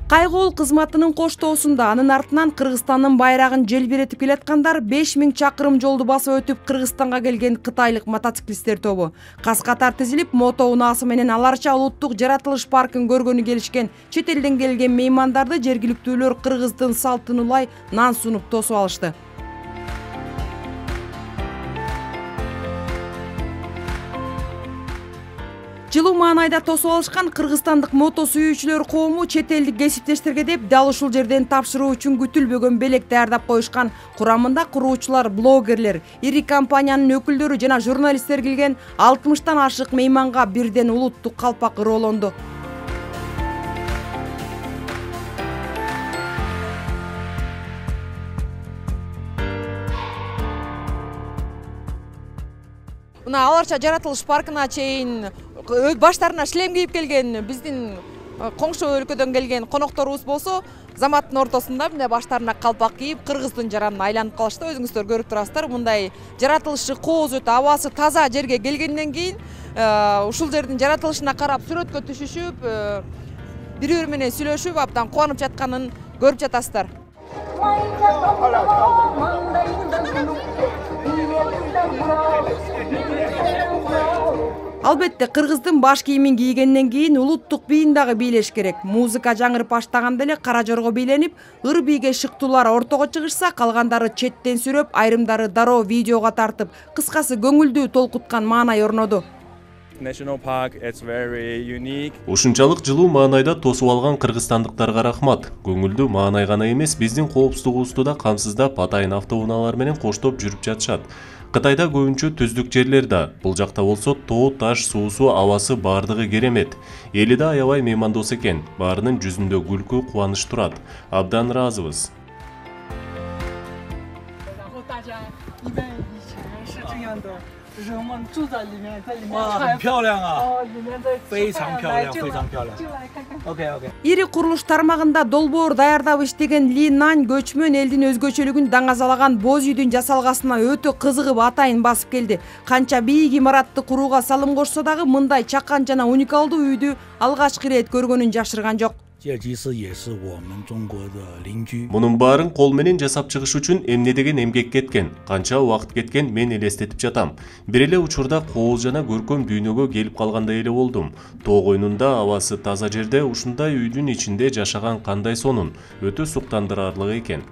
Кайгоол кызматынын коштоосунда анын артынан Кыргызстандын байрагын желбиретип келаткандар 5000 чакырым жолду басып өтүп Кыргызстанга келген кытайлык мотоциклисттер тобу. Кас-катар тизилип, мото унаасы менен аларча улуттук жаратылыш паркын көргөнү келишкен чет элден келген меймандарды жергиликтүүлөр кыргыздын салтын улай нан сунуп тосуп алышты. Жылуу маанайда тосуп алышкан кыргызстандык мото сүйүүчүлөр коому чет элдик кесиптештерге деп дал ушул жерден тапшыруу үчүн күтүлбөгөн белек даярдап коюшкан. Курамында куруучулар, блогерлер, ири компаниянын өкүлдөрү жана журналисттер келген 60тан ашык мейманга бирден улуттук калпак ыроолонду. Мына аларча жаратылыш паркына чейин баштарына шлем кийип келген биздин коңшу өлкөдөн келген конокторубуз болсо, заматтын ортосунда мына баштарына калпак кийип, кыргыздын жаранына айланып калышты. Өзүңүздөр көрүп турасыздар. Мындай жаратылышы кооз өтө абасы таза жерге келгенден кийин ушул жердин жаратылышына карап сүрөткө түшүшүп, бири-бири менен сүйлөшүп, абдан кубанып жатканын көрүп жатасыздар. Албетте, кыргыздын баш кийимин кийгенден кийин улуттук бийин дагы бийлеш керек. Музыка жаңырып баштаганда эле кара жорго бийленип, ыр бийге шыктуулар ортого чыгышса, калгандары четтен сүрөп, айрымдары дароо видеого тартып, кыскасы көңүлдүү толкуткан маанай орноду. Ушунчалык жылуу маанайда тосуп алган кыргызстандыктарга рахмат. Көңүлдүү маанай гана эмес, биздин коопсуздугубузду да камсыздап, атайын автоунаалар менен коштоп жүрүп жатышат. Кытайда көбүнчө түздүк жерлер да, бул жакта болсо тоо, таш, суусу, абасы бардыгы керемет. Эли да аябай меймандос экен. Баарынын жүзүндө күлкү, кубаныч турат. Абдан ыраазыбыз. Ири курулуш тармагында долбоор даярдап иштеген Ли Нань көчмөн элдин өзгөчөлүгүн даңазалаган боз үйдүн жасалгасына өтө кызыгып атайын басып келди. Канча бийик имаратты курууга салым кошсо дагы мындай чакан жана уникалдуу үйдү алгачкы ирет көргөнүн жашырган жок. Мунун баарын кол менен жасап чыгыш үчүн эмне деген эмгек кеткен, канча убакыт кеткен мен элестетип жатам. Бир эле учурда кооз жана көркөм дүйнөгө келип калгандай эле болдум. Тоо койнунда абасы таза жерде ушундай үйдүн ичинде жашаган кандай сонун, өтө суктандырарлык экен.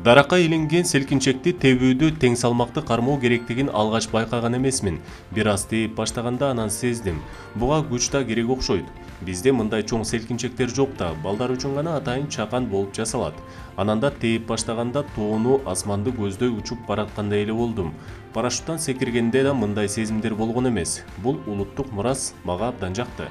Даракка илинген селкинчекти тебүүдү тең салмакты кармоо керектигин алгач байкаган эмесмин. Бир аз тээп баштаганда анан сездим. Буга күч да керек окшойт. Бизде мындай чоң селкинчектер жок да, балдар үчүн гана атайын чакан болуп жасалат. Анан да тээп баштаганда тоону, асманды көздөй учуп бараткандай эле болдум. Парашюттан секиргенде да мындай сезимдер болгон эмес. Бул улуттук мурас мага абдан жакты.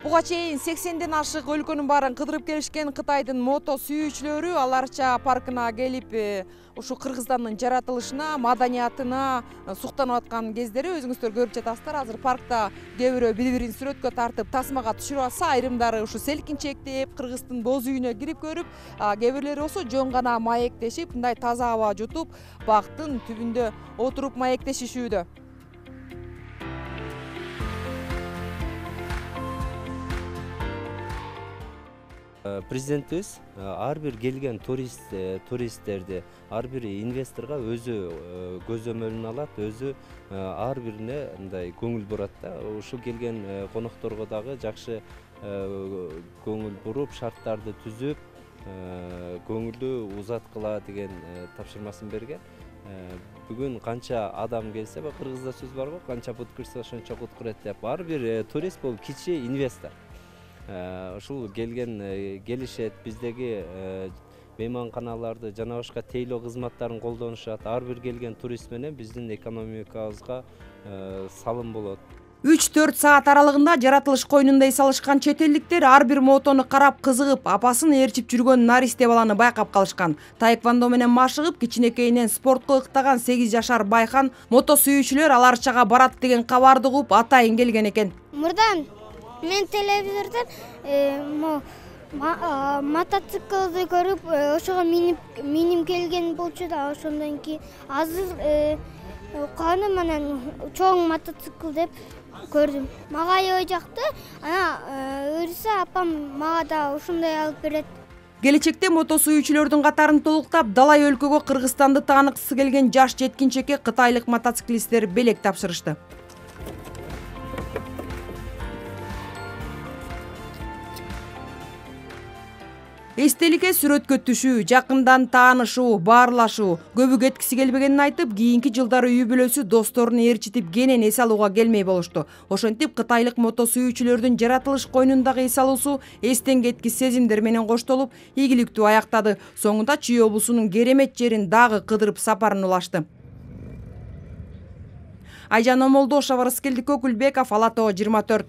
Буга чейин 80ден ашык өлкөнүн баарын кыдырып келишкен Кытайдын мото сүйүүчүлөрү аларча паркына келип, ушу Кыргызстандын жаратылышына, маданиятына суктанып аткан кездери өзүңүздөр көрүп жатасыздар. Азыр паркта кээ бирөө бири-бирин сүрөткө тартып, тасмага түшүрүп атса, айрымдары ушу селкинчектеп, Кыргыздын боз үйүнө кирип көрүп, кээ бирлери болсо жөн гана маектешип, мындай таза аба жутуп, бактын түбүндө отуруп маектешишүүдө. Президентибиз ар бир келген туристтерди, ар бир инвесторго өзү көзөмөлүн алат, өзү ар бирине мындай көңүл бурат да. Ушу келген конокторго дагы жакшы көңүл буруп, шарттарды түзүп, көңүлдү узаткыла деген тапшырмасын берген. Бүгүн канча адам келсе, кыргызда сөз бар го, канча бут кырса ошончо кут кырат деп. Ар бир турист бул кичи инвестор. Ушул келишет, биздеги мейманканаларды жана башка тейлөө кызматтарын колдонушат. Ар бир келген турист менен биздин экономикабызга салым болот. 3-4 саат аралыгында жаратылыш койнунда эс алышкан чет элдиктер ар бир мотону карап кызыгып, апасын ээрчип жүргөн наристе баланы байкап калышкан. Таэквондо менен машыгып, кичинекейинен спортко ыктаган 8 жашар Байхан мото сүйүүчүлөр аларчага барат деген кабарды угуп атайын келген экен. Мурдан мен телевизордон мотоциклды көрүп, ошого миним келген болчу да, ошондон кийин азыр каны менен чоң мотоцикл деп көрдүм. Мага аябай жакты. Буюрса апам мага да ушундай алып берет. Келечекте мото сүйүүчүлөрдүн катарын толуктап, далай өлкөгө Кыргызстанды тааныккысы келген жаш жеткинчекке кытайлык мотоциклисттер белек тапшырышты. Эстеликке сүрөткө түшүү, жакындан таанышуу, баарлашуу, көбү кеткиси келбегенин айтып, кийинки жылдары үй бүлөсү досторун ээрчитип кенен эс алууга келмей болушту. Ошентип кытайлык мото сүйүүчүлөрдүн жаратылыш койнундагы эс алуусу эстен кеткис сезимдер менен коштолуп, ийгиликтүү аяктады. Соңунда Чүй облусунун Керемет жерин дагы кыдырып сапарын улашты. Айжан Омолдошова, Рыскелди Көкүлбеков, Ала Тоо 24.